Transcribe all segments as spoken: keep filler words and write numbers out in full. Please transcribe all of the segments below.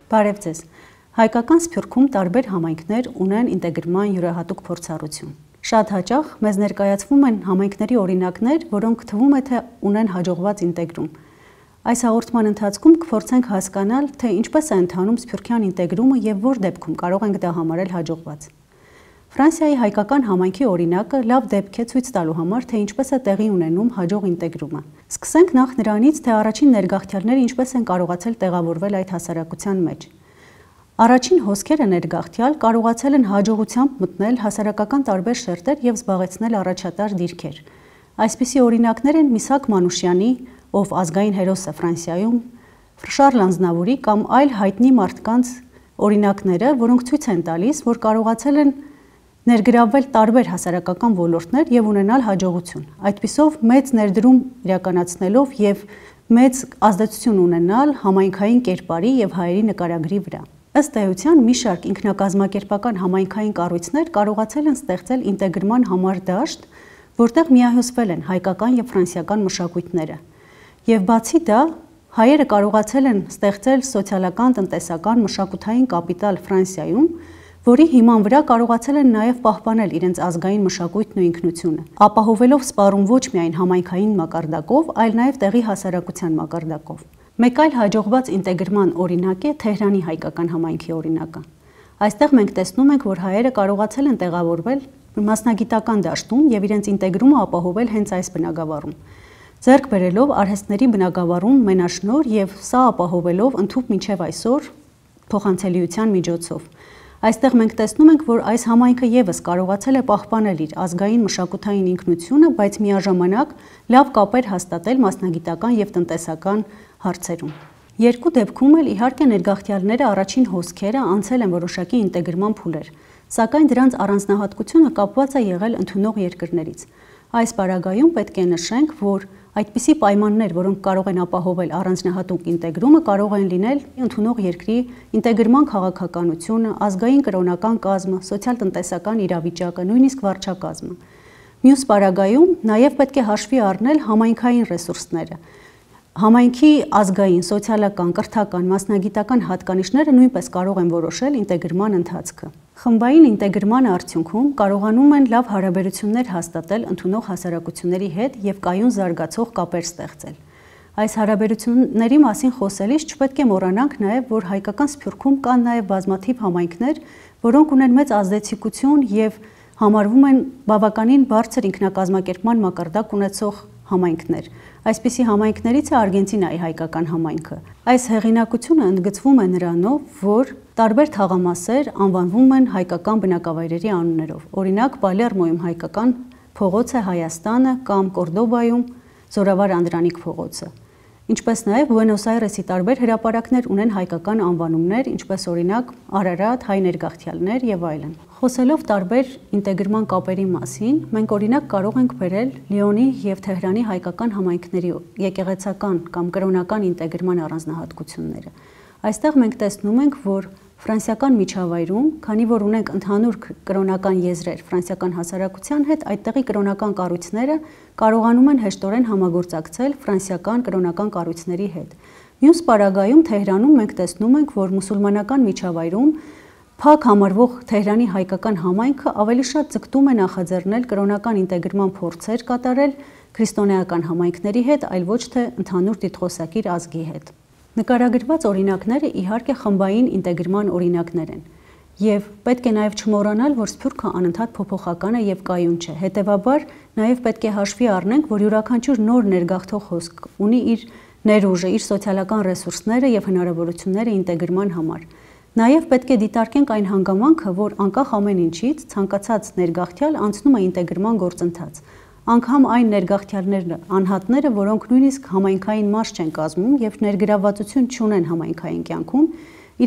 Բարև ձեզ։ Հայկական Սփյուռքում տարբեր համայնքներ ունեն ինտեգրման յուրահատուկ փորձառություն։ Շատ հաճախ մեզ ներկայացվում են համայնքների օրինակներ, որոնք թվում է թե ունեն հաջողված ինտեգրում։ Այս հաղորդման ընթացքում կփորձենք հասկանալ, թե ինչպես է ընթանում սփյուռքյան ինտեգրումը եւ որ դեպքում կարող ենք դա համարել հաջողված։ Ֆրանսիայի հայկական համայնքի օրինակը լավ դեպք է ցույց տալու համար, թե ինչպես է տեղի ունենում հաջող ինտեգրումը։ Սկսենք նախ նրանից, թե առաջին ներգաղթյալները ինչպես են կարողացել տեղավորվել այդ հասարակության մեջ։ Առաջին հոսքերը ներգաղթյալ կարողացել են հաջողությամբ մտնել հասարակական տարբեր շերտեր եւ զբաղեցնել առաջատար դիրքեր։ Այսպիսի օրինակներ են Միսակ Մանուշյանի, ով ազգային հերոս է Ֆրանսիայում, Շարլ Ազնավուրի կամ այլ հայտնի մարդկանց օրինակները, որոնք ցույց են տալիս, որ կարողացել են ներգրավվել տարբեր հասարակական ոլորտներ եւ ունենալ հաջողություն։ Այդպիսով մեծ ներդրում իրականացնելով եւ մեծ ազդեցություն ունենալ համայնքային կերպարի եւ հայերի նկարագրի վրա։ Ըստ էության մի շարք ինքնակազմակերպական համայնքային կառույցներ կարողացել են ստեղծել ինտեգրման համար դաշտ, որտեղ միահյուսվել են հայկական եւ ֆրանսիական մշակույթները։ Եվ բացի դա, հայերը կարողացել են ստեղծել սոցիալական, տնտեսական, մշակութային կապիտալ Ֆրանսիայում, որի հիման վրա կարողացել են նաև պահպանել իրենց ազգային մշակույթն ու ինքնությունը, ապահովելով սպառում ոչ միայն համայնքային մակարդակով, այլ նաև տեղի հասարակության մակարդակով։ Մեկ այլ հաջողված ինտեգրման օրինակ է Թեհրանի հայկական համայնքի օրինակը։ Այստեղ մենք տեսնում ենք, որ հայերը կարողացել են տեղավորվել մասնագիտական դաշտում եւ իրենց ինտեգրումը ապահովել հենց այս բնագավառում, ձեռք բերելով արհեստների բնագավառում մենաշնորհ եւ սա ապահովելով ընդհուպ մինչեւ այսօր փոխանցելիության միջոցով։ Այստեղ մենք տեսնում ենք, որ այս համայնքը եւս կարողացել է պահպանել իր ազգային մշակութային ինքնությունը, բայց միաժամանակ լավ կապեր հաստատել մասնագիտական եւ տնտեսական հարցերում։ Երկու դեպքում էլ իհարկե ներգաղթյալները առաջին հոսքերը անցել են որոշակի ինտեգրման փուլեր, սակայն դրանց առանձնահատկությունը կապված է եղել ընդունող երկրներից։ Այս պարագայում պետք է նշենք, որ այդպիսի պայմաններ, որոնք կարող են ապահովել առանձնահատուկ ինտեգրումը, կարող են լինել ընդունող երկրի ինտեգրման քաղաքականությունը, ազգային կրոնական կազմը, սոցիալ-տնտեսական իրավիճակը, նույնիսկ վարչակազմը։ Մյուս պարագայում նաև պետք է հաշվի առնել համայնքային ռեսուրսները։ Համայնքի ազգային, սոցիալական, կրթական, մասնագիտական հատկանիշները նույնպես կարող են որոշել ինտեգրման ընթացքը։ Խմբային ինտեգրման արդյունքում կարողանում են լավ հարաբերություններ հաստատել ընդունող հասարակությունների հետ եւ կայուն զարգացող կապեր ստեղծել։ Այս հարաբերությունների մասին խոսելիս չպետք է մոռանանք նաեւ, որ հայկական Սփյուռքում կան նաեւ բազմաթիվ համայնքներ, որոնք ունեն մեծ ազդեցություն եւ համարվում են բավականին բարձր ինքնակազմակերպման մակարդակ ունեցող համայնքներ։ Այսպիսի համայնքներից է Արգենտինայի հայկական համայնքը։ Այս հեղինակությունը ընդգծվում է նրանով, որ տարբեր թաղամասեր անվանվում են հայկական բնակավայրերի անուններով։ Օրինակ, Պալերմոյում հայկական փողոց է Հայաստանը կամ Կորդոբայում Զորավար Անդրանիկ փողոցը։ Ինչպես նաև Բուենոս Այրեսի տարբեր հրապարակներ ունեն հայկական անվանումներ, ինչպես օրինակ Արարատ, հայ ներգաղթյալներ եւ այլն։ Խոսելով տարբեր ինտեգրման կապերի մասին, մենք օրինակ կարող ենք բերել Լիոնի եւ Թեհրանի հայկական համայնքների եկեղեցական կամ կրոնական ինտեգրման առանձնահատկությունները։ Այստեղ մենք տեսնում ենք, որ ֆրանսիական միջավայրում, քանի որ ունենք ընդհանուր կրոնական եզրեր ֆրանսիական հասարակության հետ, այդտեղի կրոնական կառույցները կարողանում են հեշտորեն համագործակցել ֆրանսիական կրոնական կառույցների հետ։ Մյուս պարագայում Թեհրանում մենք տեսնում ենք, որ մուսուլմանական միջավայրում փակ համարվող Թեհրանի հայկական համայնքը ավելի շատ ձգտում է նախաձեռնել կրոնական ինտեգրման փորձեր կատարել քրիստոնեական համայնքների հետ, այլ ոչ թե ընդհանուր տիտղոսակիր ազգի հետ։ Նկարագրված օրինակները իհարկե խմբային ինտեգրման օրինակներ են, եւ պետք է նաեւ չմոռանալ, որ Սփյուռքը անընդհատ փոփոխական է եւ կայուն չէ։ Հետեւաբար նաեւ պետք է հաշվի առնենք, որ յուրաքանչյուր նոր ներգաղթող հոսք ունի իր ներուժը, իր սոցիալական ռեսուրսները եւ հնարավորությունները ինտեգրման համար։ Նաեւ պետք է դիտարկենք այն հանգամանքը, որ անկախ ամեն ինչից ցանկացած ներգաղթյալ անցնում է ինտեգրման գործընթաց։ Անգամ այն ներգաղթյալներն անհատները, որոնք նույնիսկ համայնքային մաս չեն կազմում եւ ներգրավվածություն չունեն համայնքային կյանքում,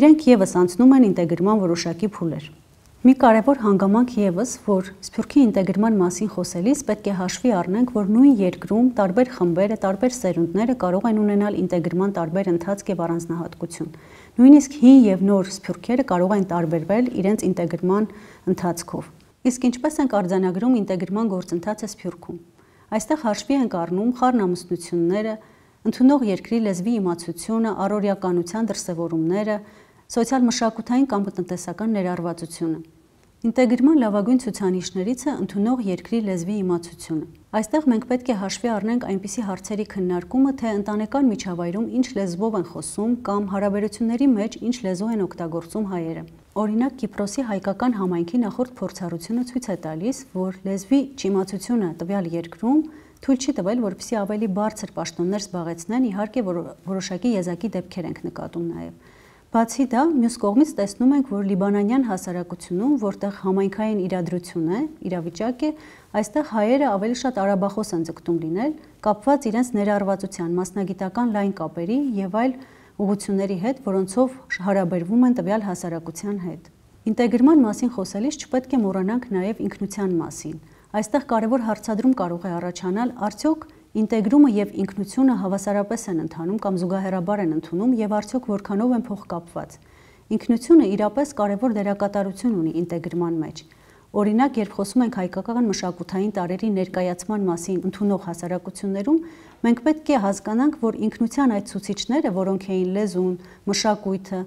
իրենք եւս անցնում են ինտեգրման որոշակի փուլեր։ Մի կարևոր հանգամանք եւս, որ Սփյուռքի ինտեգրման մասին խոսելիս պետք է հաշվի առնենք, որ նույն երկրում տարբեր խմբերը, տարբեր սերունդները կարող են ունենալ ինտեգրման տարբեր ընթացք եւ առանձնահատկություն։ Նույնիսկ հին եւ նոր սփյուռքերը կարող են տարբերվել իրենց ինտեգրման ընթացքով։ Իսկ ինչպես ենք արձանագրում ինտեգրման գործընթացը Սփյուռքում։ Այստեղ հաշվի ենք առնում խառնամուսնությունները, ընդունող երկրի լեզվի իմացությունը, առօրյականության դրսևորումները, սոցիալ-մշակութային կամ տնտեսական ներառվածությունը։ Ինտեգրման լավագույն ցուցանիշներից է ընդունող երկրի լեզվի իմացությունը։ Այստեղ մենք պետք է հաշվի առնենք այնպիսի հարցերի քննարկումը, թե ընտանեկան միջավայրում ինչ լեզվով են խոսում կամ հարաբերությունների մեջ ինչ լեզու են օգտագործում հայերը։ Օրինակ, Կիպրոսի հայկական համայնքի նախորդ փորձառությունը ցույց է տալիս, որ լեզվի չիմացությունը տվյալ երկրում թույլ չի տվել, որպեսզի ավելի բարձր պաշտոններ զբաղեցնեն, իհարկե որոշակի եզակի դեպքեր ենք նկատում նաև։ Բացի դա, մյուս կողմից տեսնում ենք, որ լիբանանյան հասարակությունում, որտեղ համայնքային իրադրություն է, իրավիճակ է, այստեղ հայերը ավելի շատ արաբախոս են ձգտում լինել, կապված իրենց ներառվածության, մասնագիտական լայն կապերի եւ այլ ուղղությունների հետ, որոնցով հարաբերվում են տվյալ հասարակության հետ։ Ինտեգրման մասին խոսելիս չպետք է մոռանանք նաև ինքնության մասին։ Այստեղ կարևոր հարցադրում կարող է առաջանալ, արդյոք ինտեգրումը եւ ինքնությունը հավասարապես են ընթանում կամ զուգահեռաբար են ընդունում եւ արդյոք որքանով են փոխկապված։ Ինքնությունը իրապես կարևոր դերակատարություն ունի ինտեգրման մեջ։ Օրինակ, երբ խոսում ենք հայկական մշակութային տարրերի ներկայացման մասին ընդունող հասարակություններում, մենք պետք է հասկանանք, որ ինքնության այդ ցուցիչները, որոնք էին լեզուն, մշակույթը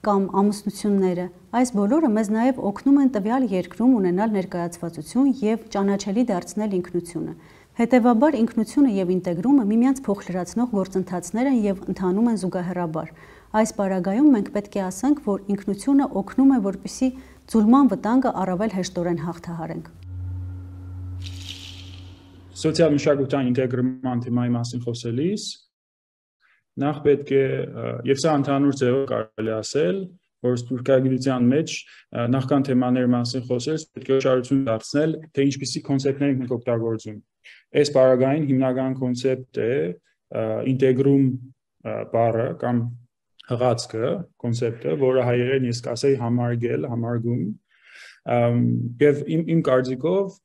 կամ ամուսնությունները, այս բոլորը մեզ նաև օգնում են տվյալ երկրում ունենալ ներկայացվածություն եւ ճանաչելի դարձնել ինքնությունը։ Հետևաբար ինքնությունը եւ ինտեգրումը միմյանց փոխլրացնող գործընթացներ են եւ ընթանում են զուգահեռաբար։ Այս պարագայում մենք պետք է ասենք, որ ինքնությունը օգնում է, որպեսզի ձուլման վտանգը առավել հեշտորեն հաղթահարենք։ Սոցիալ-մշակութային ինտեգրման թեմայի մասին խոսելիս նախ պետք է, եւ սա ընդհանուր ձևով կարելի ասել, որ սփյուռքագիտության մեջ նախքան թեմաների մասին խոսելիս պետք է ուշադրություն դարձնել, թե ինչպիսի կոնցեպտներ ենք օգտագործում։ Այս բaragային հիմնական կոնցեպտ է ինտեգրում բառը կամ հղացքը, կոնցեպտը, որը հայերեն ես կասեի համարգել, համարգում, եւ իմ իմ կարծիքով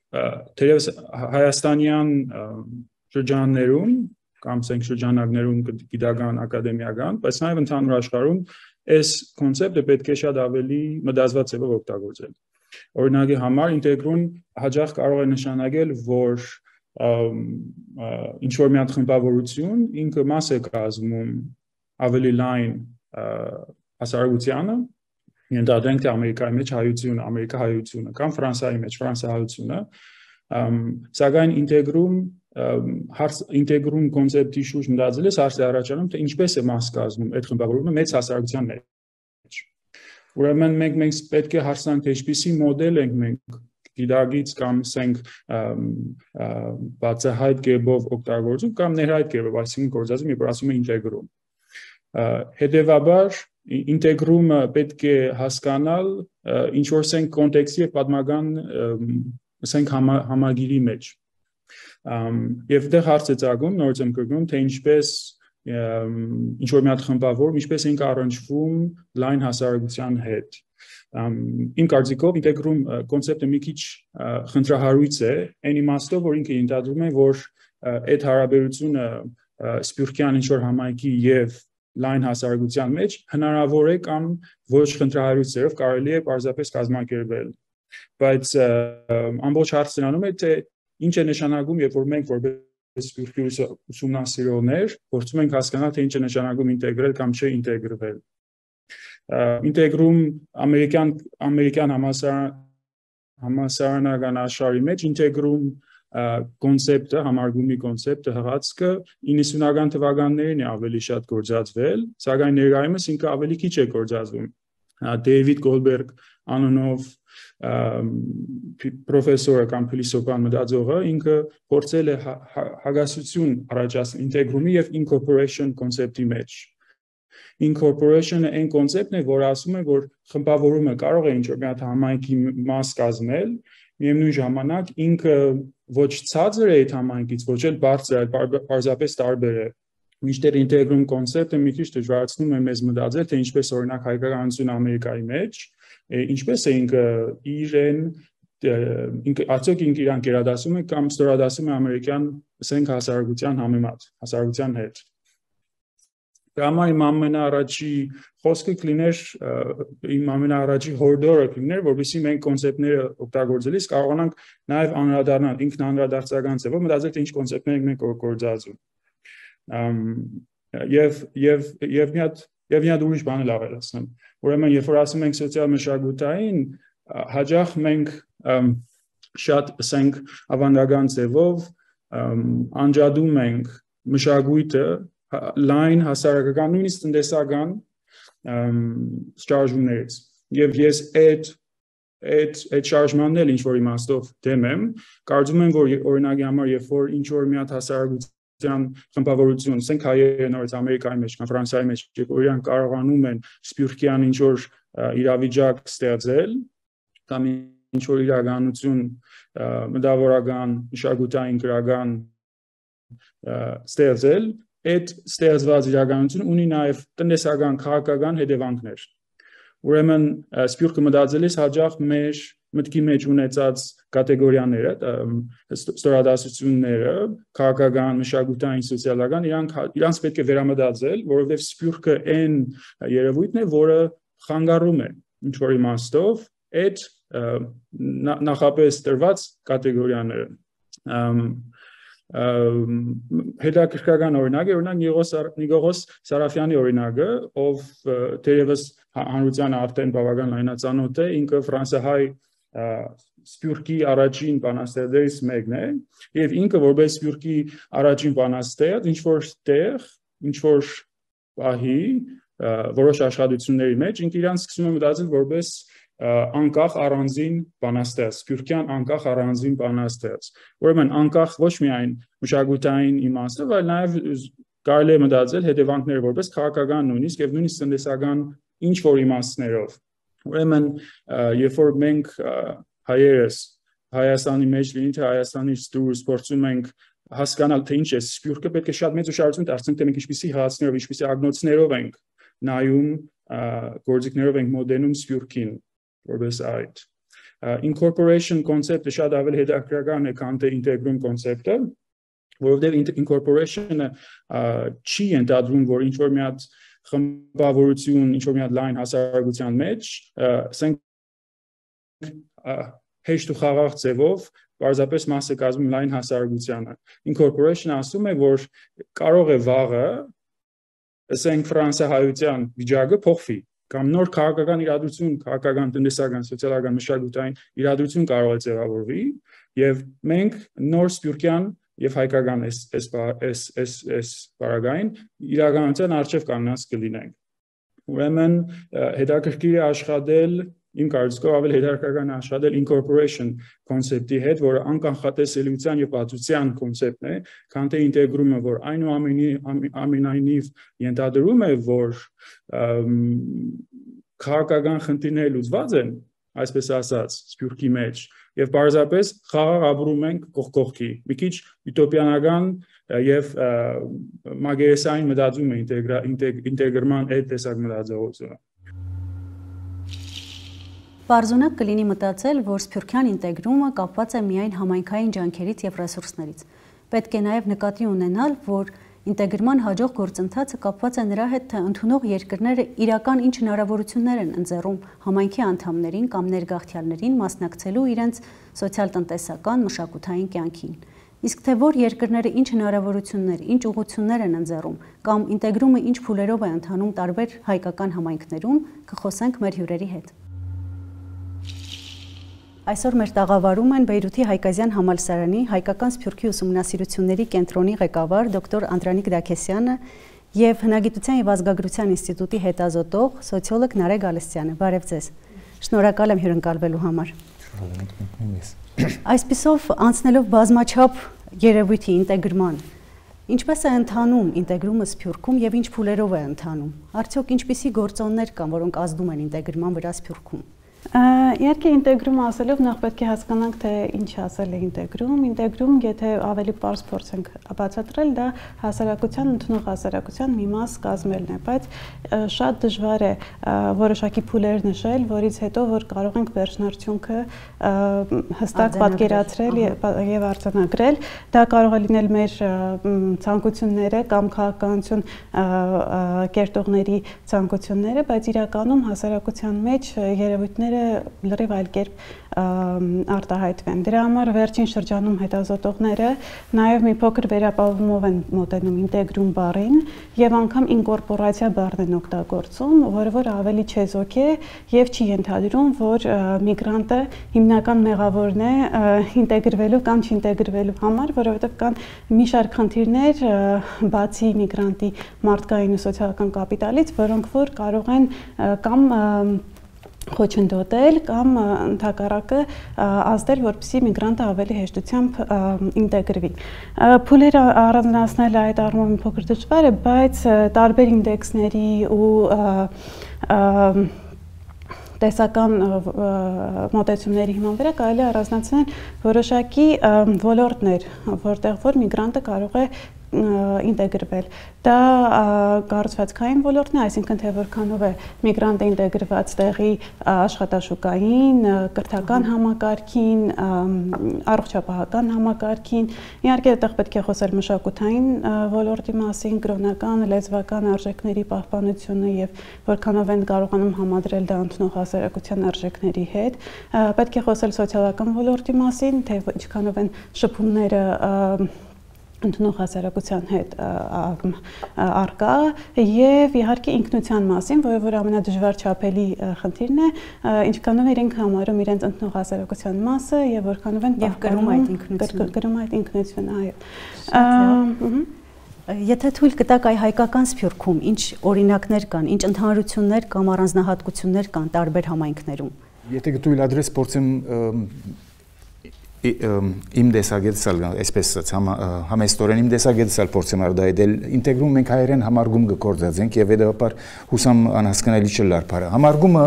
թերևս հայաստանյան շրջաններում կամ ասենք շրջանակներում գիտական, ակադեմիական, բայց նաև ընդհանուր աշխարհում այս կոնցեպտը պետք է շատ ավելի մտածված ձևով օգտագործել։ Օրինակի համար ինտեգրուն հաճախ կարող է նշանակել, որ ինչ որ մի հատ խմբավորություն ինքը մաս է կազմում ավելի լայն հասարակությանը, ենթադրենք թե Ամերիկայի մեջ հայությունը, Ամերիկա հայությունը կամ Ֆրանսիայի մեջ ֆրանսահայությունը, սակայն ինտեգրում հարց ինտեգրում կոնցեպտի շուրջ մտածելիս հարց է առաջանում, թե ինչպես է մաս կազմում այդ խմբավորումը մեծ հասարակության մեջ։ Ուրեմն մենք մենք պետք է հարցնանք, թե ինչպիսի մոդել ենք մենք գիտագից կամ ասենք բացահայտ կերպով օգտագործում կամ ներհայտ կերպով, այսինքն գործածում, երբ ասում ենք ինտեգրում։ Հետևաբար ինտեգրումը պետք է հասկանալ ինչ որ ասենք կոնտեքստի եւ պատմական ասենք համագիրի մեջ։ Եվ դեռ հարց է ծագում, նորից եմ կրկնում, թե ինչպես ինչ որ մի հատ խմբավորում, ինչպես ենք առնչվում լայն հասարակության հետ։ Իմ կարծիքով ինտեգրում կոնցեպտը մի քիչ խնդրահարույց է, այն իմաստով, որ ինքը ենթադրում է, որ այդ հարաբերությունը սփյուռքյան ինչ որ համայնքի եւ լայն հասարակության մեջ հնարավոր է կամ ոչ խնդրահարույց ձևով կարելի է պարզապես կազմակերպել։ Բայց ամբողջ հարցն անում է, թե ինչ է նշանակում, երբ որ մենք որպես սփյուռքի ուսումնասիրողներ փորձում ենք հասկանալ, թե ինչ է նշանակում ինտեգրել կամ չէ ինտեգրվել։ Ինտեգրում ամերիկյան ամերիկյան համասարան համասարանական աշխարհի մեջ ինտեգրում կոնցեպտը, համարգումի կոնցեպտը, հղացքը իննսունական թվականներին է ավելի շատ գործածվել, սակայն ներկայումս ինքը ավելի քիչ է գործածվում։ Դեյվիդ Գոլբերգ անունով պրոֆեսորը կամ փիլիսոփան մտածողը ինքը փորձել է հագասություն առաջացնել ինտեգրումի եւ incorporation կոնցեպտի մեջ։ Incorporation-ը այն կոնցեպտն է, որը ասում է, որ խմբավորումը կարող է ինչ-որ մի հատ համայնքի մաս կազմել, միևնույն ժամանակ ինքը ոչ ցածր է այդ համայնքից, ոչ էլ բարձր, այլ պարզապես տարբեր է։ Մինչդեռ ինտեգրում կոնցեպտը մի քիչ դժվարացնում է մեզ մտածել, թե ինչպես օրինակ հայկականությունը Ամերիկայի մեջ, ինչպես է ինքը իրեն ինքը արդյոք ինքը իրան գերադասում է կամ ստորադասում է ամերիկյան ասենք հասարակության համեմատ, հասարակության հետ։ Դա իմ ամենաառաջի խոսքը կլիներ, իմ ամենաառաջի հորդորը կլիներ, որովհետեւ մենք կոնցեպտները օգտագործելիս կարողանանք նաև անդրադառնալ ինքն անդրադարձական ձևով մտածել թե ինչ կոնցեպտներ մենք գործածում։ Եվ եւ եւ մի հատ եւ մի հատ ուրիշ բան էլ ավելացնեմ։ Ուրեմն երբ որ ասում ենք սոցիալ մշակութային, հաճախ մենք շատ ասենք ավանդական ձևով անջատում ենք մշակույթը լայն հասարակական նույնիսկ տնտեսական շարժումներից եւ ես այդ այդ այդ շարժմանն էլ ինչ որ իմաստով դեմ եմ կարծում եմ որ օրինակի համար երբ որ ինչ որ մի հատ հասարակության խմբավորություն ասենք հայերը նորից ամերիկայի մեջ կամ ֆրանսիայի մեջ երբ որ իրանք կարողանում են սփյուռքյան ինչ որ իրավիճակ ստեղծել կամ ինչ որ իրականություն մտավորական մշակութային գրական ստեղծել այդ ստեղծված իրականությունը ունի նաև տնտեսական քաղաքական հետևանքներ։ Ուրեմն սփյուռքը մտածելիս հաճախ մեր մտքի մեջ ունեցած կատեգորիաները, ստորադասությունները, քաղաքական, մշակութային, սոցիալական, իրանք իրանց պետք է վերամտածել, որովհետև սփյուռքը այն երևույթն է, որը խանգարում է ինչ որ իմաստով այդ նախապես տրված կատեգորիաները։ Հետաքրքրական օրինակ է օրինակ Նիգողոս Սարաֆյանի օրինակը, ով թերևս հանրությանը արդեն բավական լայնածանոթ է, ինքը ֆրանսահայ սփյուռքի առաջին բանաստեղծներից մեկն է, եւ ինքը որպես սփյուռքի առաջին բանաստեղծ ինչ որ տեղ, ինչ որ պահի որոշ աշխատությունների մեջ ինքը իրան սկսում է մտածել որպես անկախ առանձին բանաստեղծ, սփյուռքյան անկախ առանձին բանաստեղծ։ Ուրեմն անկախ ոչ միայն մշակութային իմաստով, այլ նաև կարելի է մտածել հետևանքները որպես քաղաքական նույնիսկ եւ նույնիսկ տնտեսական ինչ որ իմաստներով։ Ուրեմն երբ որ մենք հայերս Հայաստանի մեջ լինի թե Հայաստանից դուրս փորձում ենք հասկանալ թե ինչ է սփյուռքը, պետք է շատ մեծ ուշադրություն դարձնենք թե մենք ինչպիսի հացներով, ինչպիսի ագնոցներով ենք նայում գործիքներով ենք մոդելում սփյուռքին որպես այդ incorporation կոնցեպտը շատ ավելի հետաքրքրական է քան թե ինտեգրում կոնցեպտը, որովհետև incorporation-ը չի ենթադրում, որ ինչ որ մի հատ խմբավորություն, ինչ որ մի հատ լայն հասարակության մեջ, ասենք հեշտ ու խաղաղ ձևով պարզապես մաս է կազմում լայն հասարակությանը։ Incorporation-ը ասում է, որ կարող է վաղը, ասենք ֆրանսահայության վիճակը փոխվի, կամ նոր քաղաքական իրադրություն, քաղաքական, տնտեսական, սոցիալական, մշակութային իրադրություն կարող է ձևավորվի, եւ մենք նոր սփյուռքյան եւ հայկական այս այս այս այս բարագային իրականության արժեվ կանանց կլինենք։ Ուրեմն հետաքրքիր է աշխատել իմ կարծիքով ավելի հետաքրքրական աշխատել incorporation կոնցեպտի հետ, որը անկանխատեսելիության եւ բացության կոնցեպտն է, քան թե ինտեգրումը, որ այնուամենայնիվ ենթադրում է, որ քաղաքական խնդիրները լուծված են, այսպես ասած, սփյուռքի մեջ, եւ պարզապես խաղաղ ապրում ենք կողք կողքի։ Մի քիչ ուտոպիանական եւ մագերեսային մտածում է ինտեգրման այդ տեսակ մտածողությունը։ Պարզունակ կլինի մտածել, որ սփյուռքյան ինտեգրումը կապված է միայն համայնքային ջանքերից եւ ռեսուրսներից։ Պետք է նաեւ նկատի ունենալ, որ ինտեգրման հաջող գործընթացը կապված է նրա հետ, թե ընդունող երկրները իրական ինչ հնարավորություններ են ընձեռում համայնքի անդամներին կամ ներգաղթյալներին մասնակցելու իրենց սոցիալ-տնտեսական, մշակութային կյանքին։ Իսկ թե որ երկրները ինչ հնարավորություններ, ինչ ուղղություններ են ընձեռում կամ ինտեգրումը ինչ փուլերով է ընթանում տարբեր հայկական համայնքներում, կխոսենք մեր հյուրերի հետ։ Այսօր մեր տաղավարում են Բեյրութի Հայկազյան համալսարանի հայկական սփյուռքի ուսումնասիրությունների կենտրոնի ղեկավար դոկտոր Անդրանիկ Դաքեսյանը եւ Հնագիտության եւ ազգագրության ինստիտուտի հետազոտող սոցիոլոգ Նարեկ Գալստյանը։ Բարև ձեզ։ Շնորհակալ եմ հյուրընկալվելու համար։ Այսպիսով անցնելով բազմաչափ երևույթի ինտեգրման, ինչպես է ընթանում ինտեգրումը սփյուռքում եւ ինչ փուլերով է ընթանում։ Արդյոք ինչպիսի գործոններ կան, որոնք ազդում են ինտեգրման վրա սփյուռքում։ Իհարկե ինտեգրում ասելով նախ պետք է հասկանանք թե ինչ ասել է ինտեգրում, ինտեգրում եթե ավելի պարզ փորձենք բացատրել, դա հասարակության ընդունող հասարակության մի մաս կազմելն է, բայց շատ դժվար է որոշակի փուլեր նշել, որից հետո որ կարող ենք վերջնարդյունքը հստակ պատկերացրել եւ արձանագրել, դա կարող է լինել մեր ցանկությունները կամ քաղաքականություն կերտողների ցանկությունները, բայց իրականում հասարակության մեջ երևույթները լրիվ այլ կերպ արտահայտվեն։ Դրա համար վերջին շրջանում հետազոտողները նաև մի փոքր վերապահումով են մոտենում ինտեգրում բառին եւ անգամ ինկորպորացիա բառն են օգտագործում, որը որ ավելի չեզոք է եւ չի ենթադրում, որ միգրանտը հիմնական մեղավորն է ինտեգրվելու կամ չինտեգրվելու համար, որովհետեւ կան մի շարք խնդիրներ բացի միգրանտի մարդկային ու սոցիալական կապիտալից, որոնք որ կարող են կամ խոչընդոտել կամ ընդհակառակը ազդել, որպեսզի միգրանտը ավելի հեշտությամբ ինտեգրվի։ Փուլերը առանձնացնելը այդ առումով մի փոքր դժվար է, բայց տարբեր ինդեքսների ու տեսական մոտեցումների հիման վրա կարելի է առանձնացնել որոշակի ոլորտներ, որտեղ որ միգրանտը կարող է ինտեգրվել։ Դա կառուցվածքային ոլորտն է, այսինքն թե որքանով է միգրանտը ինտեգրված տեղի աշխատաշուկային, կրթական համակարգին, առողջապահական համակարգին։ Իհարկե այդտեղ պետք է խոսել մշակութային ոլորտի մասին, կրոնական, լեզվական արժեքների պահպանությունը եւ որքանով են կարողանում համադրել դա ընդունող հասարակության արժեքների հետ։ Պետք է խոսել սոցիալական ոլորտի մասին, թե ինչքանով են շփումները ընդունող հասարակության հետ արկա եւ իհարկե ինքնության մասին, որը որ ամենադժվար չափելի խնդիրն է, ինչքանով իրենք համարում իրենց ընդունող հասարակության մասը եւ որքանով են եւ կրում այդ ինքնությունը, կրում այդ ինքնությունը, այո։ Եթե թույլ կտաք այ հայկական Սփյուռքում ինչ օրինակներ կան, ինչ ընդհանրություններ կամ առանձնահատկություններ կան տարբեր համայնքներում։ Եթե կթույլ ադրես փորձեմ իմ դեսագետսալ այսպես համեստորեն իմ դեսագետսալ փորձեմ արդայել ինտեգրում մենք հայերեն համարգում գործածենք եւ հետեւաբար հուսամ անհասկանալի չլար բարը համարգումը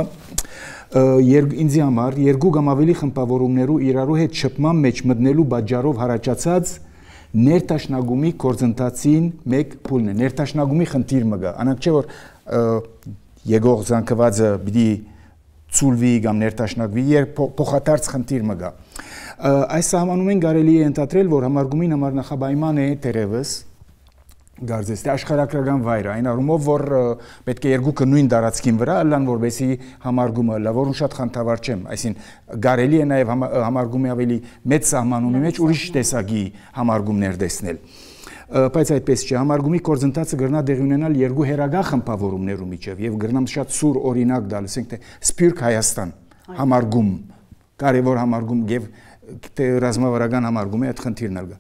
ինձի համար երկու կամ ավելի խմբավորումներու իրարու հետ շփման մեջ մտնելու բաժարով հարաճած ներտաշնագումի կորձընթացին մեկ փուլն է ներտաշնագումի խնդիր մգա անակ չէ որ եկող զանգվածը պիտի ծուլվի կամ ներտաշնագվի երբ փոխադարձ խնդիր մգա այս սահմանում են կարելի է ընդհանրել, որ համարգումին համար նախաբայման է դերևս գարձես աշխարհակրական վայրը, այն առումով, որ պետք է երկուքը նույն տարածքին վրա լան, որբեսի համարգումը լա, որուն շատ խնդավար չեմ, այսինքն կարելի է նաև համարգումի ավելի մեծ սահմանումի մեջ ուրիշ տեսակի համարգումներ տեսնել։ Բայց այդպես չէ, համարգումի գործընթացը կգրնա տեղի ունենալ երկու հերագա խմբավորումներու միջև եւ կգրնամ շատ սուր օրինակ տալ, ասենք թե Սփյուռք Հայաստան համարգում, կարևոր համարգում եւ թե ռազմավարական համարգումի այդ խնդիրն ալգա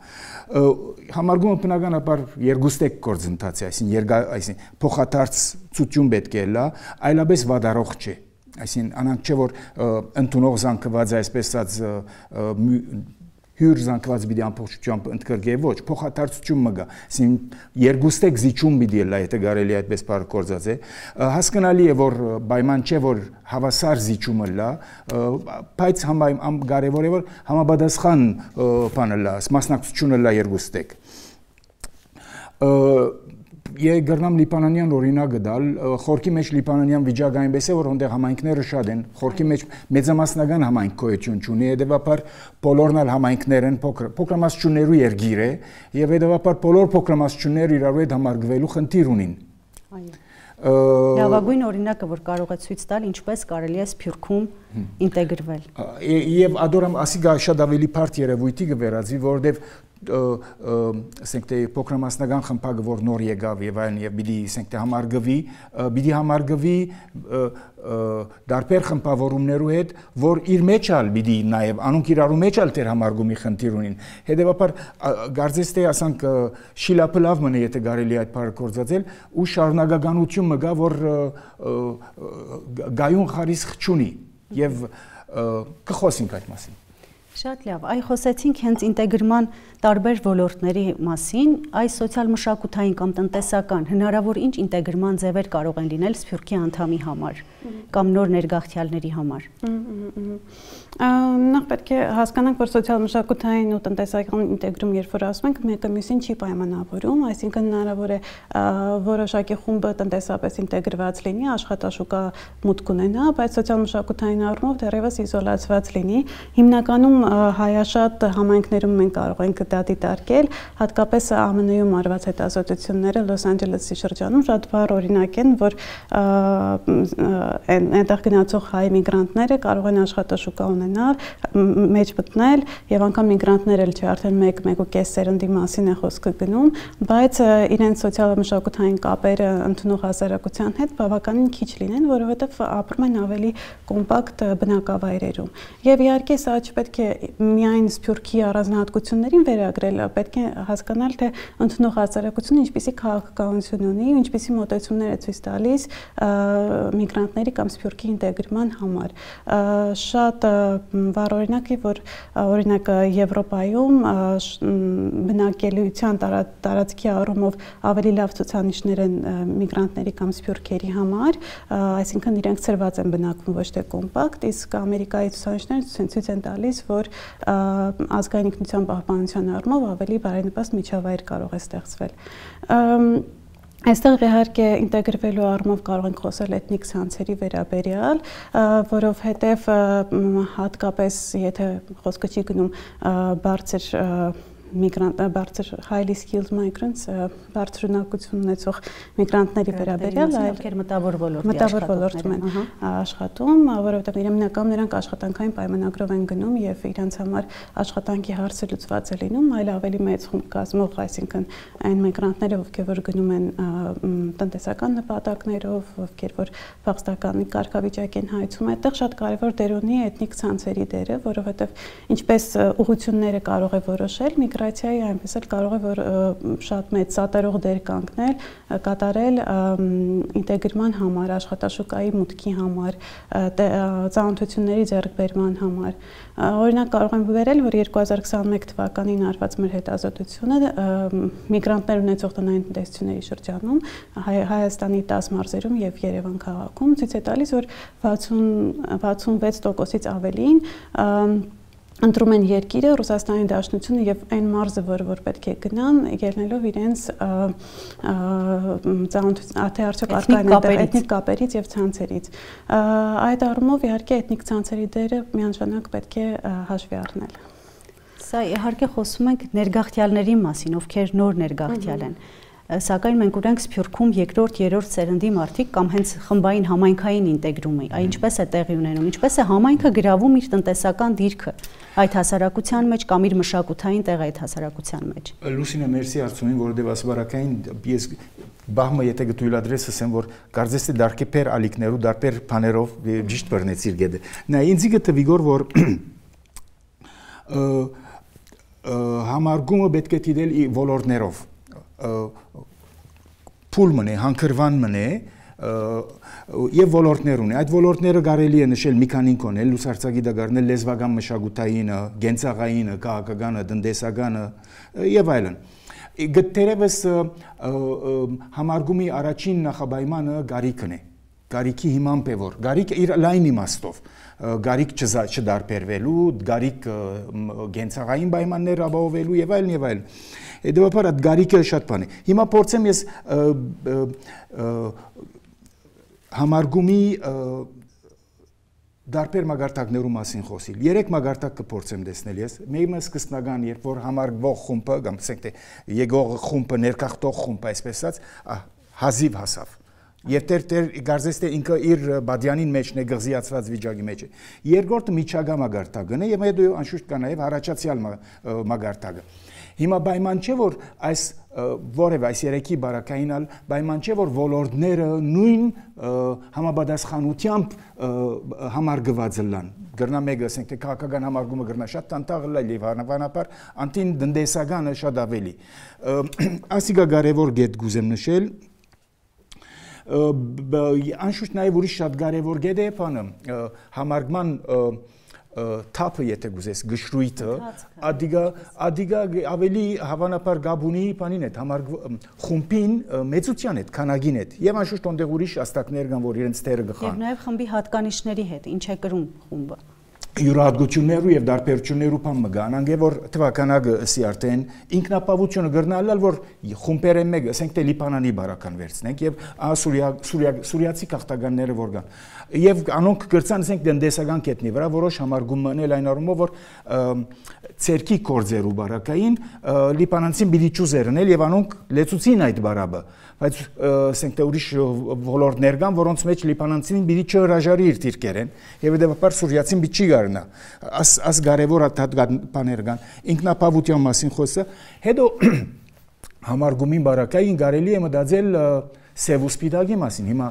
համարգումը բնականաբար երկուստեք գործընթաց է այսինքն երգա այսինքն փոխադարձ ցույցում պետք է լա այլապես վադարող չէ այսինքն անանք չէ որ ընդունող զանգված է այսպես ասած հյուր զանգված պիտի ամբողջությամբ ընդգրկե ոչ փոխադարձություն մգա այսինքն երկուստեք զիջում պիտի լա եթե կարելի այդպես բառ գործած է հասկանալի է որ պայման չէ որ հավասար զիջումը լա բայց համ կարևոր է որ համապատասխան բանը լա մասնակցությունը լա երկուստեք Եկ գրնամ լիպանանյան օրինակ դալ, խորքի մեջ լիպանանյան վիճակ այնպես է, որ հոնդեղ համայնքները շատ են, խորքի մեջ մեծամասնական համայնք գոյություն չունի, հետևաբար բոլորն էլ համայնքներ են, փոքրամասնություններու երգիր է, եւ հետևաբար բոլոր փոքրամասնությունները իրարու հետ համարգվելու խնդիր ունին։ Լավագույն օրինակը, որ կարող է ցույց տալ, ինչպես կարելի է Սփյուռքում ինտեգրվել։ Եվ ադորամ ասիգա շատ ավելի բարդ երևույթի կվերածվի, որովհետեւ ասենք թե փոքրամասնական խմբակը որ նոր եկավ եւ այլն եւ պիտի ասենք թե համարգվի պիտի համարգվի դարբեր խմբավորումներու հետ որ իր մեջ ալ պիտի նաեւ անոնք իրարու մեջ ալ դեր համարգումի խնդիր ունին հետեւաբար գարձես թե ասանք շիլապլավ մնե եթե կարելի այդ բառը գործածել ու շարունակականություն մգա որ գայուն խարիսխ չունի եւ կխոսենք այդ մասին Շատ լավ, այ խոսեցինք հենց ինտեգրման տարբեր ոլորտների մասին, այս սոցիալ-մշակութային կամ տնտեսական հնարավոր ինչ ինտեգրման ձևեր կարող են լինել Սփյուռքի անդամի համար կամ նոր ներգաղթյալների համար։ Նախ պետք է հասկանանք, որ սոցիալ-մշակութային ու տնտեսական ինտեգրում երբ որ ասում ենք, մեկը մյուսին չի պայմանավորում, այսինքն հնարավոր է որոշակի խումբը տնտեսապես ինտեգրված լինի, աշխատաշուկա մուտք ունենա, բայց սոցիալ-մշակութային առումով դեռևս իզոլացված լինի։ Հիմնականում հայաշատ համայնքներում մենք կարող ենք դա դիտարկել, հատկապես Ամն Ը-ում արված հետազոտությունները Լոս Անջելեսի շրջանում շատ բառ օրինակ են, որ այնտեղ գնացող հայ միգրանտները կարող են աշխատաշուկա ունենալ, մեջ մտնել եւ անգամ միգրանտներ էլ չէ, արդեն մեկ մեկ ու կես սերնդի մասին է խոսքը գնում, բայց իրենց սոցիալ-մշակութային կապերը ընդունող հասարակության հետ բավականին քիչ լինեն, որովհետեւ ապրում են ավելի կոմպակտ բնակավայրերում։ Եվ իհարկե սա չպետք է միայն Սփյուռքի առանձնահատկություններին վերագրել, պետք է հասկանալ, թե ընդունող հասարակությունը ինչպիսի քաղաքականություն ունի, ինչպիսի մոտեցումներ է ցույց տալիս միգրանտների կամ Սփյուռքի ինտեգրման համար։ Շատ վառ օրինակ է, որ օրինակ Եվրոպայում բնակելիության տարածքի առումով ավելի լավ ցուցանիշներ են միգրանտների կամ սփյուռքերի համար, այսինքն իրենք ծրված են բնակվում ոչ թե կոմպակտ, իսկ Ամերիկայի ցուցանիշները ցույց են տալիս, որ ազգային ինքնության պահպանության առումով ավելի բարենպաստ միջավայր կարող է ստեղծվել։ Այստեղ իհարկե ինտեգրվելու առումով կարող ենք խոսել էթնիկ ցանցերի վերաբերյալ, որովհետև հատկապես եթե խոսքը չի գնում բարձր միգրանտ բարձր highly skilled migrants բարձր ունակություն ունեցող միգրանտների վերաբերյալ, այլ մտավոր ոլորտի մտավոր ոլորտում են աշխատում, որովհետև իրենական նրանք աշխատանքային պայմանագրով են գնում եւ իրենց համար աշխատանքի հարցը լուծված է լինում, այլ ավելի մեծ խումբ կազմող, այսինքն այն միգրանտները, ովքեր որ գնում են տնտեսական նպատակներով, ովքեր որ փախստական կարգավիճակ են հայցում, այդտեղ շատ կարևոր դեր ունի էթնիկ ցանցերի դերը, որովհետև ինչպես ուղղությունները կարող է որոշել միգրացիայի, այնպես էլ կարող է որ շատ մեծ սատարող դեր կանգնել, կատարել ինտեգրման համար, աշխատաշուկայի մուտքի համար, ծանոթությունների ձեռքբերման համար։ Օրինակ կարող եմ վերել, որ երկու հազար քսաներկու թվականին արված մեր հետազոտությունը միգրանտներ ունեցող տնային տնտեսությունների շրջանում Հայաստանի տասը մարզերում եւ Երևան քաղաքում ցույց է տալիս, որ վաթսունվեց տոկոսից ավելին ընտրում են երկիրը, Ռուսաստանի Դաշնությունը եւ այն մարզը, որը որ պետք է գնան, ելնելով իրենց թե արդյոք առկա են էթնիկ կապերից եւ ցանցերից։ Այդ առումով իհարկե էթնիկ ցանցերի դերը միանշանակ պետք է հաշվի առնել։ Սա իհարկե խոսում ենք ներգաղթյալների մասին, ովքեր նոր ներգաղթյալ են։ Սակայն մենք ունենք Սփյուռքում երկրորդ, երրորդ սերնդի մարդիկ կամ հենց խմբային համայնքային ինտեգրումը, այ ինչպես է տեղի ունենում, ինչպես է համայնքը գրավում իր տնտեսական դիրքը այդ հասարակության մեջ կամ իր մշակութային տեղը այդ հասարակության մեջ։ Լուսինե, մերսի արցունին, որովհետև ասբարակային ես բահմը եթե գտույլադրես ասեմ, որ կարծես թե դարքեպեր ալիքներու դարբեր բաներով ճիշտ բռնեցիր գեդը։ Նա ինձ գտվի որ համարգումը պետք է դիտել ոլորտներով փուլ մնե, հանգրվան մնե եւ ոլորտներ ունի։ Այդ ոլորտները կարելի է նշել մի քանին կոնել, լուսարցակի դագարնել լեզվական մշակութայինը, գենցաղայինը, քաղաքականը, տնտեսականը եւ այլն։ Գտերևս համարգումի առաջին նախաբայմանը գարիկն է։ Գարիկի հիմամբ է որ գարիկը իր լայն իմաստով գարիկ չդարբերվելու, գարիկ գենցաղային պայմաններ ապահովելու եւ այլն եւ այլն։ Դեպաբար այդ գարիկը շատ բան է։ Հիմա փորձեմ ես համարգումի դարբեր մագարտակներու մասին խոսիլ։ Երեք մագարտակ կփորձեմ տեսնել ես։ Մեկը սկզբնական, երբ որ համարգվող խումբը, կամ ասենք թե եկող խումբը, ներկախտող խումբը, այսպես ասած, հազիվ հասավ։ Եվ տեր տեր գարզես թե ինքը իր բադյանին մեջ է գղզիացված վիճակի մեջ է։ Երկրորդը միջագա մագարտակն է եւ հետո անշուշտ կա նաեւ առաջացյալ մագարտակը։ Հիմա պայման չէ որ այս որևէ այս երեքի բարակայինալ պայման չէ որ ոլորտները նույն համապատասխանությամբ համարգված լան։ Գրնա մեկը ասենք թե քաղաքական համարգումը գրնա շատ տանտաղ լա եւ հավանաբար անտին տնտեսականը շատ ավելի։ Ասիկա կարևոր գետ գուզեմ նշել անշուշտ նաև ուրիշ շատ կարևոր գետ է բանը համարգման թափը, եթե գուզես, գշրույթը, ադիգա ադիգա ավելի հավանաբար գաբունի բանին է, համար խումբին մեծության հետ, քանագին հետ։ Եվ անշուշտ ոնդեղ ուրիշ աստակներ կան, որ իրենց թերը գխան։ Եվ նաև խմբի հատկանիշների հետ, ինչ է կրում խումբը։ Յուրահատկություններու եւ դարբերություններու բան մգան, անգե որ թվականագը ըսի արդեն ինքնապավությունը գրնալալ, որ խումբերը մեկ, ասենք թե Լիբանանի բարական վերցնենք եւ Սուրիա Սուրիացի քաղաքականները որ կան։ Եվ անոնք գրծան ասենք դնդեսական կետնի վրա որոշ համարգում մնել այն առումով, որ ցերկի կորձերու բարակային լիբանանցին պիտի ճուզերնել եւ անոնք լեցուցին այդ բարաբը, բայց ասենք թե ուրիշ ոլորտներ կան, որոնց մեջ լիբանանցին պիտի չհրաժարի իր դիրքերեն եւ դեպաբար սուրիացին պիտի չի գարնա։ Աս աս կարևոր բաներ կան, ինքնապավության մասին խոսը, հետո համարգումին բարակային կարելի է մտածել սև ու սպիտակի մասին։ Հիմա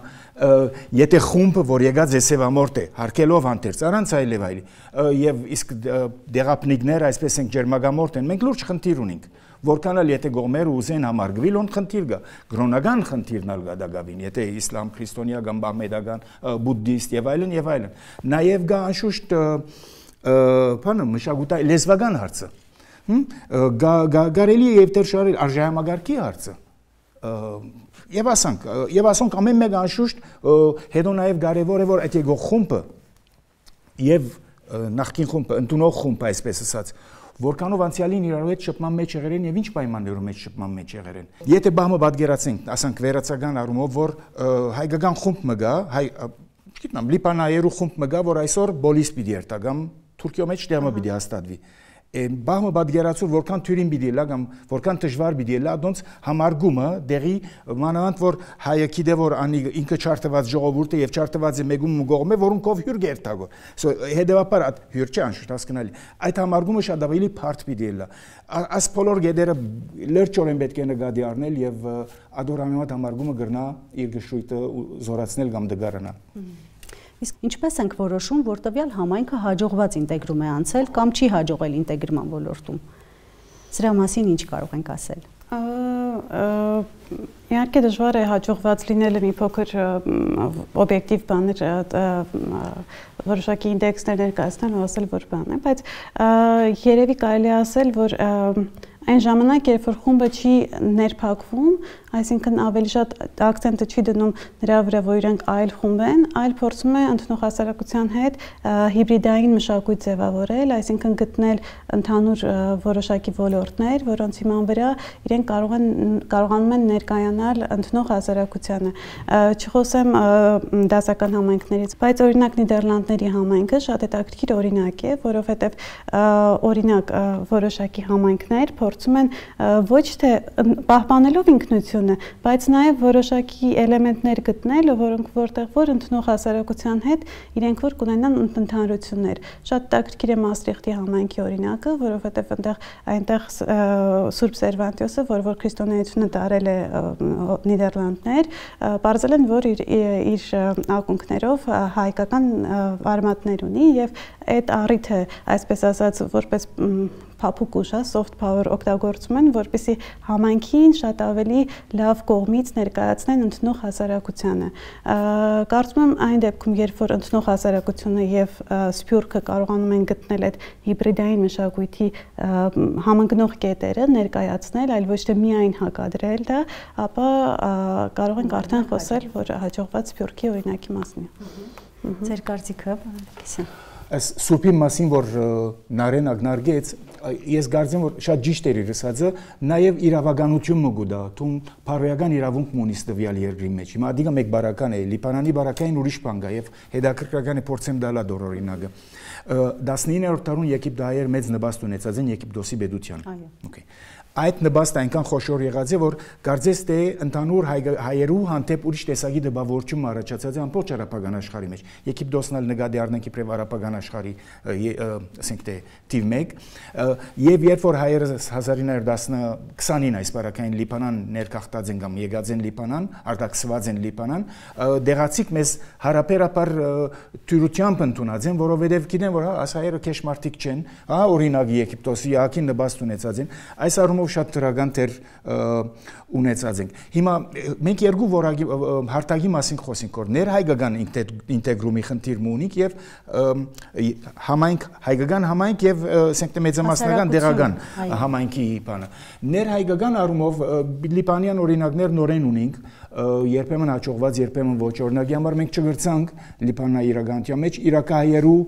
եթե խումբը, որ եկած է սևամորտ է, հարկելով հանդերձ առանց այլև այլի, եւ իսկ դեղապնիկները, այսպես ենք ջերմագամորտ են, մենք լուրջ խնդիր ունենք, որքան էլ եթե գողմերը ուզեն համարգվել, ոնց խնդիր կա, գրոնական խնդիրն ալ կա դակավին, եթե իսլամ, քրիստոնեական, բահմեդական, բուդդիստ եւ այլն եւ այլն։ Նաեւ կա անշուշտ բանը մշակութային լեզվական հարցը։ Կարելի է եւ դերշարել արժեհամագարկի հարցը։ Եվ ասանք, եւ ասոնք ամեն մեկ անշուշտ հետո նաեւ կարեւոր է որ այդ եկող խումբը եւ նախկին խումբը, ընդունող խումբը, այսպես ասած, որքանով անցյալին իրարու հետ շփման մեջ եղել են եւ ինչ պայմաններում մեջ շփման մեջ եղել են։ Եթե բահմը պատկերացնենք, ասանք վերացական առումով, որ հայկական խումբ մը գա, հայ, չգիտեմ, լիբանայերու խումբ մը գա, որ այսօր բոլիս պիտի երթա կամ Թուրքիո մեջ դերմը պիտի հաստատվի։ Բահմը պատկերացու որքան թյուրին պիտի լա կամ որքան դժվար պիտի լա, դոնց համարգումը դեղի մանավանդ որ հայը գիտե որ անի ինքը չարտված ժողովուրդ է եւ չարտված է մեգում գողմ է, որոնքով հյուր գերտագո։ So հետեւաբար այդ հյուր չի անշուշտ հասկանալի։ Այդ համարգումը շատ ավելի բարդ պիտի լա։ Աս բոլոր գեդերը լրջորեն պետք է նկատի առնել եւ ադորանոտ համարգումը գրնա իր գշույթը զորացնել կամ դգարանա։ Իսկ ինչպես ենք որոշում, որ տվյալ համայնքը հաջողված ինտեգրում է անցել կամ չի հաջողել ինտեգրման ոլորտում։ Սրա մասին ինչ կարող ենք ասել։ Իհարկե դժվար է հաջողված լինելը մի փոքր օբյեկտիվ բաներ որոշակի ինդեքսներ ներկայացնել ու ասել որ բան է, բայց երևի կարելի ասել, որ այն ժամանակ, երբ որ խումբը չի ներփակվում, այսինքն ավելի շատ акցենտը չի դնում նրա վրա, որ իրենք այլ խումբ են, այլ փորձում է ընդունող հասարակության հետ հիբրիդային մշակույթ ձևավորել, այսինքն գտնել ընդհանուր որոշակի ոլորտներ, որոնց հիման վրա իրենք կարող են կարողանում են ներկայանալ ընդունող հասարակությանը։ Չխոսեմ դասական համայնքներից, բայց օրինակ Նիդերլանդների համայնքը շատ հետաքրքիր օրինակ է, որովհետև օրինակ որոշակի համայնքներ փորձում են ոչ թե պահպանելով ինքնությունը, բայց նաև որոշակի էլեմենտներ գտնել, որոնք որտեղ որ ընդունող հասարակության հետ իրենք որ կունենան ընդհանրություններ։ Շատ հետաքրքիր է Մաստրիխտի համայնքի օրինակը, որովհետև այնտեղ այնտեղ Սուրբ Սերվանտիոսը, որ որ քրիստոնեությունը տարել է Նիդերլանդներ, բարձել են, որ իր իր ակունքներով հայկական արմատներ ունի եւ այդ առիթը, այսպես ասած, որպես փափուկ ուժ, soft power օգտագործում են, որպեսզի համայնքին շատ ավելի լավ կողմից ներկայացնեն ընդունող հասարակությանը։ Կարծում եմ այն դեպքում, երբ որ ընդունող հասարակությունը եւ սփյուռքը կարողանում են գտնել այդ հիբրիդային մշակույթի համընկնող կետերը ներկայացնել, այլ ոչ թե միայն հակադրել դա, ապա կարող ենք արդեն խոսել, որ հաջողված սփյուռքի օրինակի մասին է։ Ձեր կարծիքը, Քիսյան։ Այս սուրբի մասին, որ նարեն ագնարգեց, ես կարծեմ, որ շատ ճիշտ էր իր ասածը, նաև իրավականություն մգուդա, թում փարոյական իրավունք մունիս տվյալ երկրի մեջ։ Հիմա ադիգա մեկ բարական է, Լիբանանի բարակային ուրիշ բան կա եւ հետաքրքրական է փորձեմ դալա դոր օրինակը։ տասնիններորդ դարուն Եգիպտահայեր մեծ նպաստ ունեցած են Եգիպտոսի պետության։ Okay։ Այդ նպաստը այնքան խոշոր եղած է, որ կարծես թե ընդհանուր հայերու հանդեպ ուրիշ տեսակի դպավորություն առաջացած է ամբողջ արաբական աշխարհի մեջ։ Եգիպտոսն ալ նկատի առնենք իբրև արաբական աշխարհի, ասենք թե թիվ մեկ, Եվ երբ որ հայերը հազար ինը հարյուր քսանին այս բարակային Լիբանան ներկախտած են կամ եկած են Լիբանան, արտաքսված են Լիբանան, դեղացիկ մեզ հարաբերաբար թյուրությամբ ընդունած են, որովհետև գիտեն, որ այս հայերը քեշ մարդիկ չեն, հա, օրինակ Եգիպտոսի Յակին նպաստ ունեցած են, այս առումով շատ դրական դեր ունեցած ենք։ Հիմա մենք երկու որակի հարտակի մասին խոսենք, որ ներհայկական ինտեգրումի խնդիր ունենք եւ համայնք հայկական համայնք եւ ասենք մեծամասնական դեղական համայնքի բանը։ Ներհայկական առումով լիբանյան օրինակներ նորեն ունենք, երբեմն հաջողված, երբեմն ոչ, օրինակի համար մենք չգրցանք Լիբանանի իրականության մեջ իրակահայերու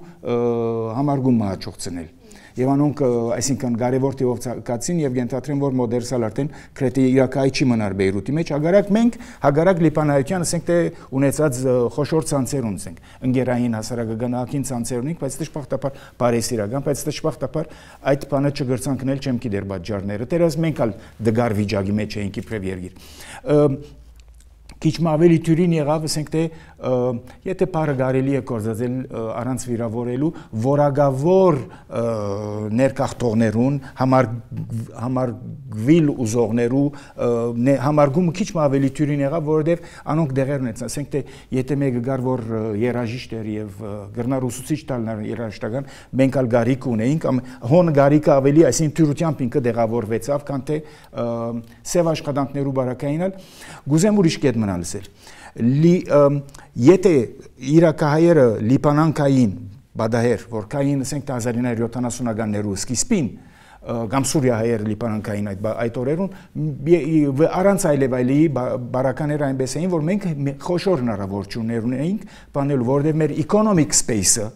համարգումը հաջողցնել։ Եվ անոնք, այսինքն կարևոր տիվով կացին եւ ենթադրեմ, որ մոդերսալ արդեն քրետի իրակայի չի մնար Բեյրութի մեջ, հագարակ մենք, հագարակ Լիբանայության, ասենք թե ունեցած խոշոր ցանցեր ունենք, ընկերային հասարակական ցանցեր ունենք, բայց դժբախտաբար բարեսիրական, բայց դժբախտաբար այդ բանը չգրցանքնել չեմ գիտեր պատճառները, դերս մենք ալ դգար վիճակի մեջ էինք իբրև երկիր։ Քիչ ավելի թյուրին եղավ, ասենք թե եթե բառը կարելի է կորզածել առանց վիրավորելու որակավոր ներկախտողներուն, համարգվիլ ուզողներու համարգումը քիչ ավելի թյուրին եղավ, որովհետև անոնք դեղեր ունեցան, ասենք թե եթե մեկը գար որ երաժիշտ էր եւ գրնար ուսուցիչ տալն երաժշտական, մենք ալ գարիկ ունեինք, հոն գարիկը ավելի, այսինքն թյուրությամբ ինքը դեղավորվեցավ, քան թե սև աշխատանքներու բարակային ալ գուզեմ ուրիշ կետ մնալ ասել։ Եթե իրակահայերը լիբանանքային բադահեր, որ կային ասենք հազար ինը հարյուր յոթանասունականներու սկիզբին կամ Սուրիա հայերը լիբանանքային այդ օրերուն առանց այլևայլի բարականները այնպես էին, որ մենք խոշոր հնարավորություններ ունեինք բանելու, որովհետև մեր economic space-ը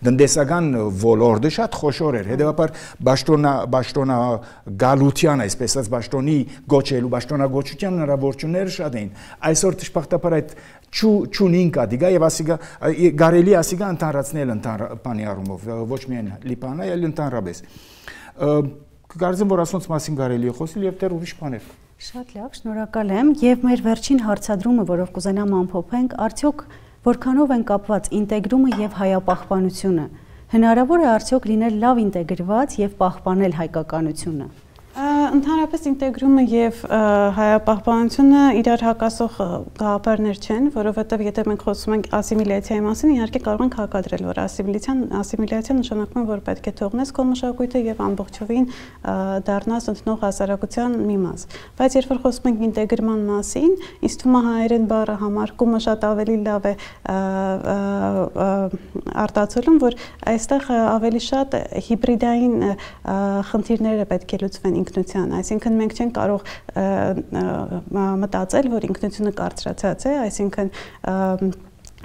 դնդեսական ոլորտը շատ խոշոր էր, հետևաբար բաշտոնա գալության, այսպես ասած բաշտոնի գոչելու, բաշտոնագոչության հնարավորությունները շատ էին։ Այսօր դժբախտաբար այդ չունին կադիգա եւ ասիգա գարելի ասիգա ընդհանրացնել բանի առումով, ոչ միայն Լիբանան, այլ ընդհանրապես։ Կարծեմ, որ ասոնց մասին կարելի է խոսել եւ դեռ ուրիշ բաներ։ Շատ լավ, շնորհակալ եմ եւ մեր վերջին հարցադրումը, որով կուզենամ ամփոփենք, արդյոք որքանով են կապված ինտեգրումը եւ հայապահպանությունը։ Հնարավոր է արդյոք լինել լավ ինտեգրված եւ պահպանել հայկականությունը։ Ընդհանրապես ինտեգրումը եւ հայապահպանությունը իրար հակասող գաղափարներ չեն, որովհետեւ եթե մենք խոսում ենք ասիմիլյացիայի մասին, իհարկե կարող ենք հակադրել, որ ասիմիլյացիան ասիմիլյացիան նշանակում է, որ պետք է թողնես քո մշակույթը եւ ամբողջովին դառնաս ընդնող հասարակության մի մաս։ Բայց երբ որ խոսում ենք ինտեգրման մասին, ինձ թվում է հայերեն բառը համարկումը շատ ավելի լավ է արտացոլում, որ այստեղ ավելի շատ հիբրիդային խնդիրներ պետք է լուծվեն ինքնության, այսինքն մենք չենք կարող մտածել, որ ինքնությունը կարծրացած է, այսինքն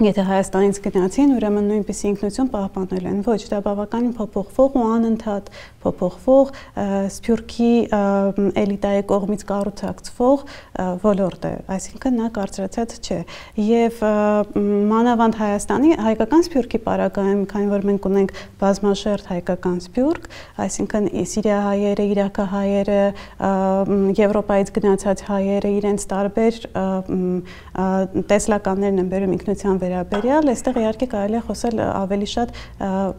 եթե Հայաստանից գնացին, ուրեմն նույնպիսի ինքնություն պահպանել են, ոչ, դա բավականին փոփոխվող ու անընդհատ փոփոխվող Սփյուռքի էլիտայի կողմից կառուցակցվող ոլորտ է, այսինքն նա կարծրացած չէ։ Եվ մանավանդ Հայաստանի հայկական Սփյուռքի պարագայում, քանի որ մենք ունենք բազմաշերտ հայկական Սփյուռք, այսինքն սիրիահայերը, իրաքահայերը, Եվրոպայից գնացած հայերը իրենց տարբեր տեսլականներն են բերում ինքնության վերաբերյալ, այստեղ իհարկե կարելի է խոսել ավելի շատ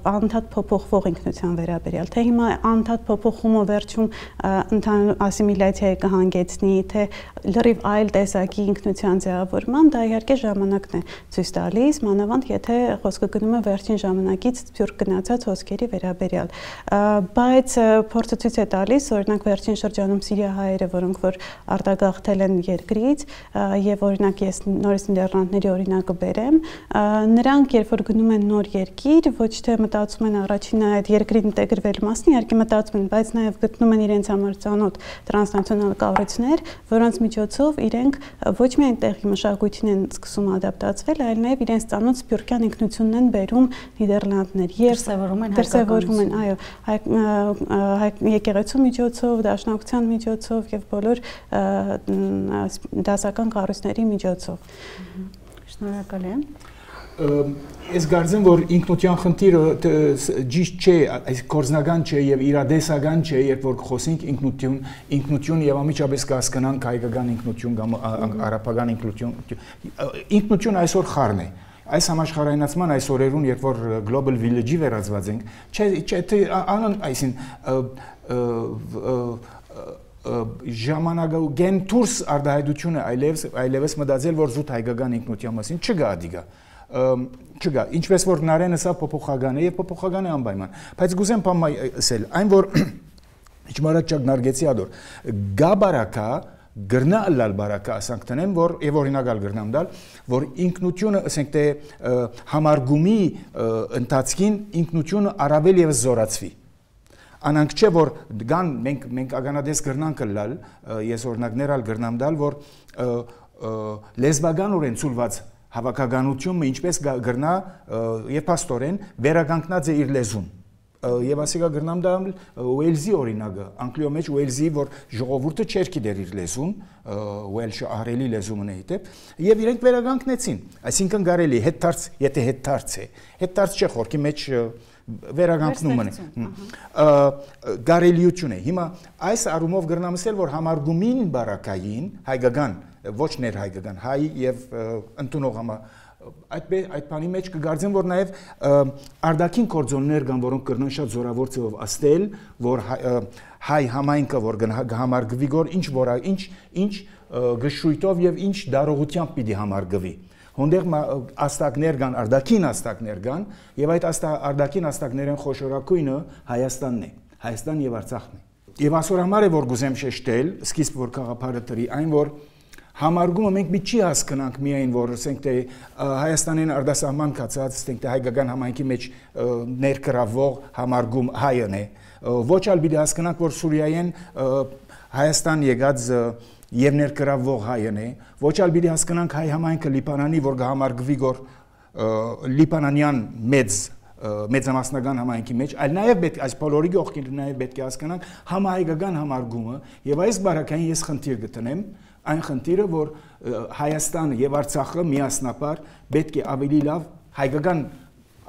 անընդհատ փոփոխվող ինքնության վերաբերյալ, թե հիմա անընդհատ փոփոխումը վերջում ընդհանուր ասիմիլյացիայի կհանգեցնի, թե լրիվ այլ տեսակի ինքնության ձևավորման, դա իհարկե ժամանակն է ցույց տալիս, մանավանդ եթե խոսքը գնում է վերջին ժամանակից Սփյուռք գնացած հոսքերի վերաբերյալ, բայց փորձը ցույց է տալիս, օրինակ վերջին շրջանում սիրիահայերը, որոնք որ արտագաղթել են երկրից, եւ օրինակ ես նորից Նիդերլանդների օրինակը բերեմ, նրանք երբ որ գնում են նոր երկիր, ոչ թե մտածում են առաջինը այդ երկրի ինտեգրվելու մասին, իհարկե մտածում են, բայց նաև գտնում են իրենց համար ծանոթ տրանսնացիոնալ կառույցներ, որոնց միջոցով իրենք ոչ միայն տեղի մշակույթին են սկսում ադապտացվել, այլ նաև իրենց ծանոթ սփյուռքյան ինքնությունն են բերում Նիդերլանդներ, դրսևորում են, այո, եկեղեցու միջոցով, դաշնակցության միջոցով եւ բոլոր դասական կառույցների միջոցով։ Շնորհակալ եմ։ Ես կարծեմ, որ ինքնության խնդիրը ճիշտ չէ, այս կորզնական չէ եւ իրադեսական չէ, երբ որ խոսենք ինքնություն, ինքնություն եւ ամիջապես կհասկանանք հայկական ինքնություն կամ արաբական ինքնություն։ Ինքնություն այսօր խառն է։ այս համաշխարհայնացման այս օրերուն, երբ որ global village-ի վերածված ենք, չէ, չէ, անն այսին ժամանակագեն դուրս արդահայտությունը այլևս այլևս մտածել, որ զուտ հայկական ինքնության մասին չգա դիգա։ Չգա, ինչպես որ Նարենը սա փոփոխական է եւ փոփոխական է անպայման, բայց գուզեմ բամայ ասել, այն որ իջմարաճակ նարգեցի ադոր, գա բարակա գրնա լալ բարակա ասանք տնեմ, որ եւ օրինակալ գրնամ դալ, որ ինքնությունը, ասենք թե համարգումի ընթացքին ինքնությունը առավել եւս զորացվի։ Անանք չէ որ գան մենք մենք ագանադես գրնանք լալ, ես օրինակներ ալ գրնամ դալ, որ լեզվականորեն ցուլված հավաքականությունը ինչպես գրնա եւ փաստորեն վերականգնած է իր լեզուն։ Եվ ասիկա գրնամ դա Ուելզի օրինակը, Անգլիո մեջ Ուելզի, որ ժողովուրդը չէր գիտեր իր լեզուն, Ուելշը ահրելի լեզումն է հետև, եւ իրենք վերականգնեցին, այսինքն կարելի հետդարձ, եթե հետդարձ է, հետդարձ չէ խորքի մեջ վերականգնումն է, կարելիություն է։ Հիմա այս առումով գրնամ ասել, որ համարգումին բարակային հայկական, ոչ ներհայկական, հայ եւ ընդունող համա այդ այդ բանի մեջ կգարձեմ, որ նաև արդակին կորձոններ կան, որոնք կրնան շատ զորավոր ձևով աստել, որ հայ համայնքը որ կհամարգվի գոր ինչ որ ինչ ինչ գշույթով եւ ինչ դարողությամբ պիտի համարգվի։ Հոնդեղ աստակներ կան, արդակին աստակներ կան, եւ այդ արդակին աստակներն խոշորակույնը Հայաստանն է, Հայաստան եւ Արցախն է։ Եվ այսօր համար է որ գուզեմ շեշտել, սկիզբ որ խաղապարը տրի այն որ համարգումը մենք մի չի հասկանանք միայն որ ասենք թե Հայաստանին արտասահման կացած ասենք թե հայկական համայնքի մեջ ներկրավող համարգում հայն է ոչ ալ պիտի հասկանանք որ Սուրիայեն Հայաստան եկած եւ ներկրավող հայն է ոչ ալ պիտի հասկանանք հայ համայնքը Լիբանանի որ կհամարգվի գոր լիբանանյան մեծ մեծամասնական համայնքի մեջ այլ նաեւ պետք այս բոլորի գողքին նաեւ պետք է հասկանանք համահայկական համարգումը եւ այս բարակային ես խնդիր գտնեմ այն խնդիրը, որ Հայաստանը եւ Արցախը միասնապար պետք է ավելի լավ հայկական,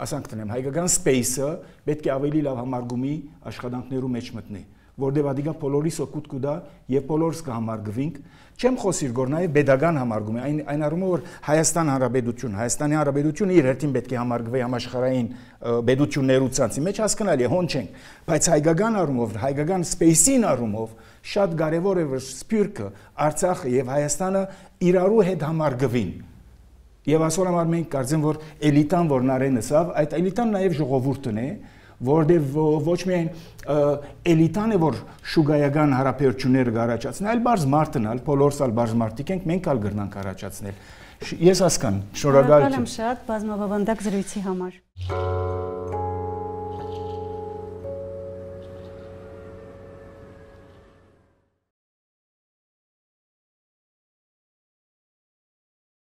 ասանք տնեմ, հայկական space-ը պետք է ավելի լավ համարգումի աշխատանքներու մեջ մտնի, որտեղ ադիգա բոլորիս օգուտ կուտա եւ բոլորս կհամարգվենք։ Չեմ խոսիր որ նաեւ pedagogan համարգում է, այն այն առումով որ Հայաստան Հանրապետություն, Հայաստանի Հանրապետությունը իր հերթին պետք է համարգվի համաշխարհային պետություններու ցանցի մեջ հասկանալի է, հոն չենք, բայց հայկական առումով, հայկական space-ին առումով շատ կարևոր է որ սփյուռքը, Արցախը եւ Հայաստանը իրարու հետ համարգվին։ Եվ այսօր համար մենք կարծեմ որ էլիտան որ Նարենը սավ, այդ էլիտան նաեւ ժողովուրդն է, որտեղ ոչ միայն էլիտան է որ շուգայական հարաբերությունները կառաջացնի, այլ բարձ մարդն ալ, բոլորս ալ բարձ մարդիկ ենք, մենք ալ գրնանք առաջացնել։ Ես հասկան, շնորհակալ եմ շատ բազմաբավանդակ զրույցի համար։